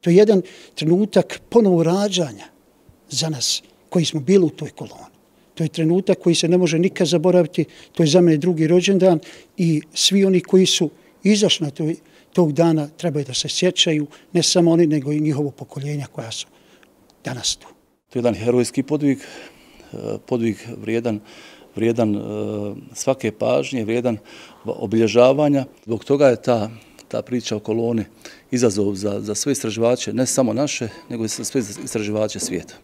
To je jedan trenutak ponovo rađanja za nas koji smo bili u toj koloni. To je trenutak koji se ne može nikad zaboraviti, to je za mene drugi rođendan i svi oni koji su izašli na tog dana trebaju da se sjećaju, ne samo oni, nego i njihovo pokoljenja koja su danas tu. To je jedan herojski podvig vrijedan svake pažnje, vrijedan obilježavanja. Zbog toga je ta priča o koloni izazov za sve istraživače, ne samo naše, nego i za sve istraživače svijeta.